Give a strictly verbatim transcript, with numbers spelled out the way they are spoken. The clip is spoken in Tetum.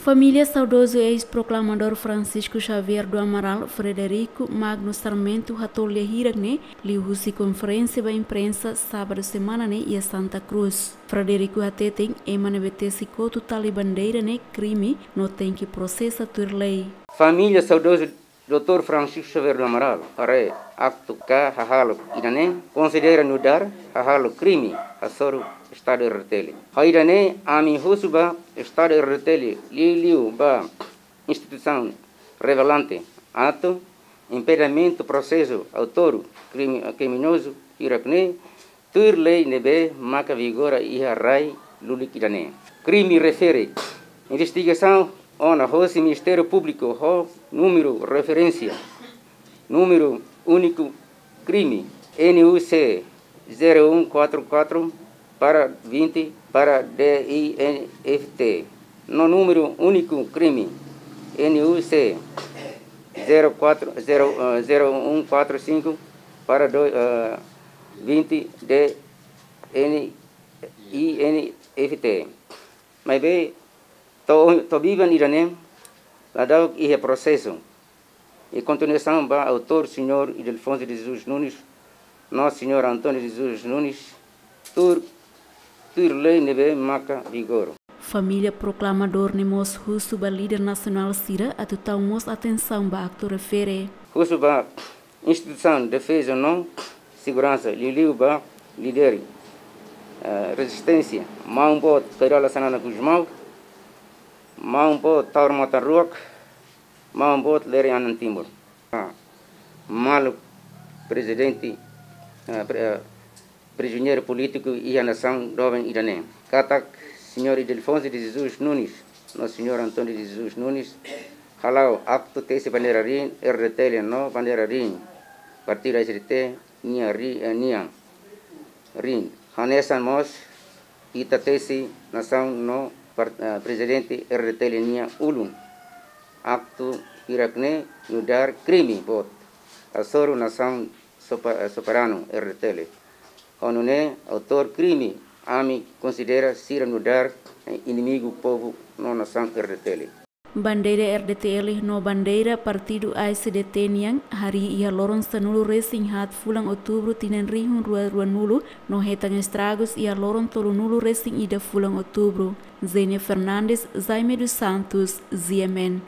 Família saudozu eis-proklamadór Francisco Xavier do Amaral, Frederico Magno Sarmento, hato'o lia hirak ne'e liuhusi konferénsia ba imprensa sábadu semana ne'e iha Santa Cruz. Frederico hateten ema ne'ebé tesi kotu tali bandeira ne'e krime no tenke prosesa tuir lei. Família saudozu doutór Francisco Xavier do Amaral, haree aktu ka hahalok ida-ne'e, konsidera nu'udar hahalok krime hasoru Estadu R D T L. Ho ida-ne'e, ami husu ba Estadu R D T L, liuliu ba instituisaun relevante, atu impedimentu prosesu autór krime, kriminozu hirak ne'e, tuir lei ne'ebé maka vigora iha rai lulik ida-ne'e. Krime refere investigasaun ona hosi Ministériu Públiku ho númeru referénsia, númeru úniku krime N U C zero um quatro quatro para vinte para D I N F T, no númeru úniku krime N U C zero quatro, zero, eh, zero um quatro cinco para do, eh, vinte D N I N F T. Maibé, to'o, to'o biban ida-ne'e, ladún iha prosesu. I kontinuasaun ba autór señór Ildefonso de Jesus Nunes, no señór António de Jesus Nunes, tuir, tuir lei ne'ebé maka vigora. Família proklamadór ne'e mós husu ba líder nasionál sira atu tau mós atensaun ba aktu refere. Husu ba instituisaun defeza no seguransa, liuliu ba líder, eh, rezisténsia, maun boot Kay Rala Xanana Gusmão, maun boot Taur Matan Ruak, maun boot Lere Anan Timur. Ah, maluk prezidente, ah, pre-, ah, prizioneiru polítiku iha nasaun doben ida-ne'e. Katak señór Ildefonso de Jesus Nunes, no señór António de Jesus Nunes, hala'o aktu tesi bandeira rin, R D T L no bandeira rin, partidu S D T, nia ri-, eh, nia rin. Hanesan mós, ita tesi nasaun no par-, eh, prezidente R D T L nia ulun. Aktu hirak ne'e nu'udar krime boot hasoru nasaun sopa-, eh, soberanu R D T L. Ho nune'e autór krime, ami konsidera sira nu'udar, eh, inimigu povu no nasaun R D T L. Bandeira R D T L no bandeira partidu A S D T nian harii iha loron sanulu-resin-haat fulan Outubru tinan rihun rua ruanulu no hetan estragus iha loron tolunulu-resin-ida fulan Outubru. Zenia Fernandes, Jaime dos Santos, Z M N.